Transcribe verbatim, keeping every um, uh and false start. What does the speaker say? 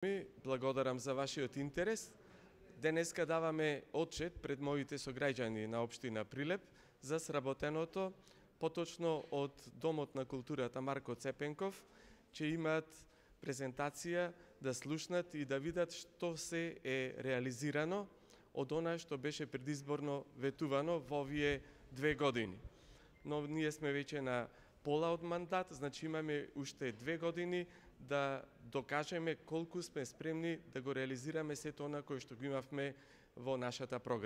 Ми благодарам за вашиот интерес. Денеска даваме отчет пред моите сограѓани на општина Прилеп за сработеното, поточно од Домот на културата Марко Цепенков, че имаат презентација да слушнат и да видат што се е реализирано од она што беше предизборно ветувано во овие две години. Но ние сме веќе на пола од мандат, значи имаме уште две години да докажеме колку сме спремни да го реализираме сето она кое што го имавме во нашата програма.